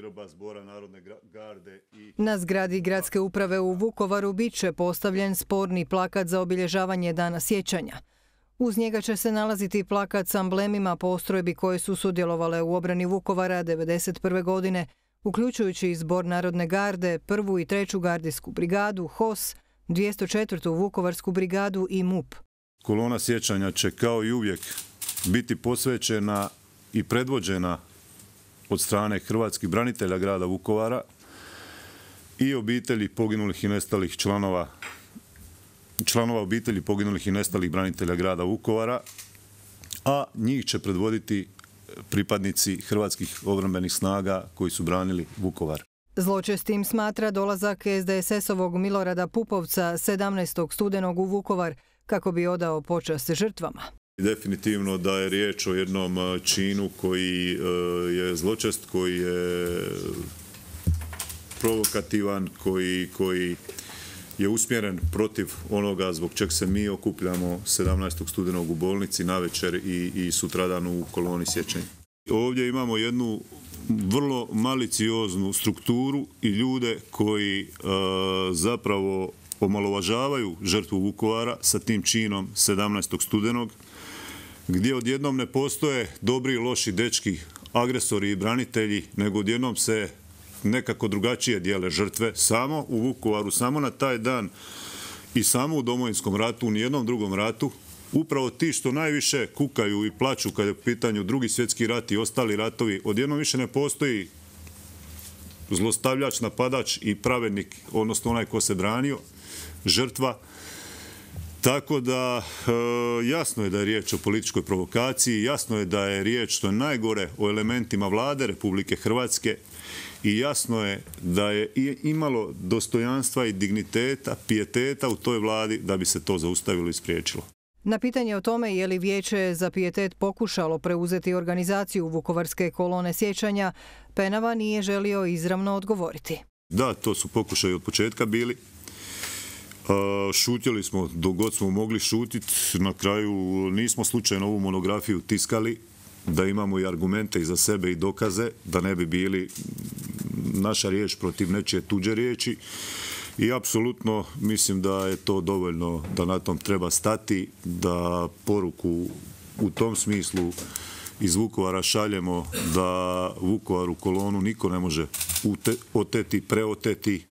grba Zbora narodne garde i... Na zgradi gradske uprave u Vukovaru bit će postavljen sporni plakat za obilježavanje Dana sjećanja. Uz njega će se nalaziti plakat s amblemima postrojbi koje su sudjelovale u obrani Vukovara 1991. godine, uključujući Zbor narodne garde, 1. i 3. gardijsku brigadu, HOS, 204. Vukovarsku brigadu i MUP. Kolona sjećanja će kao i uvijek biti posvećena i predvođena od strane hrvatskih branitelja grada Vukovara i obitelji poginulih i nestalih članova obitelji poginulih i nestalih branitelja grada Vukovara, a njih će predvoditi pripadnici hrvatskih obrambenih snaga koji su branili Vukovar. Zločestim smatra dolazak SDSS-ovog Milorada Pupovca 17. studenog u Vukovar kako bi odao počast žrtvama. Definitivno da je riječ o jednom činu koji je zločest, koji je provokativan, koji je usmjeren protiv onoga zbog čeg se mi okupljamo 17. studenog u bolnici navečer i sutradan u koloni sjećanja. Ovdje imamo jednu vrlo malicioznu strukturu i ljude koji zapravo omalovažavaju žrtvu Vukovara sa tim činom 17. studenog, gdje odjednom ne postoje dobri i loši dečki, agresori i branitelji, nego odjednom se nekako drugačije dijele žrtve, samo u Vukovaru, samo na taj dan i samo u Domovinskom ratu, u nijednom drugom ratu. Upravo ti što najviše kukaju i plaču kad je u pitanju Drugi svjetski rat i ostali ratovi, odjednom više ne postoji zlostavljač, napadač i pravednik, odnosno onaj ko se branio, žrtva. Tako da jasno je da je riječ o političkoj provokaciji, jasno je da je riječ, što je najgore, o elementima vlade Republike Hrvatske i jasno je da je imalo dostojanstva i digniteta, pijeteta u toj vladi da bi se to zaustavilo i spriječilo. Na pitanje o tome je li Vijeće za pijetet pokušalo preuzeti organizaciju Vukovarske kolone sjećanja, Penava nije želio izravno odgovoriti. Da, to su pokušaji od početka bili. Šutjeli smo dok god smo mogli šutiti. Na kraju nismo slučajno ovu monografiju tiskali, da imamo i argumente iza sebe i dokaze, da ne bi bili naša riječ protiv nečije tuđe riječi. I apsolutno mislim da je to dovoljno, da na tom treba stati, da poruku u tom smislu iz Vukovara šaljemo da Vukovaru kolonu niko ne može oteti, preoteti.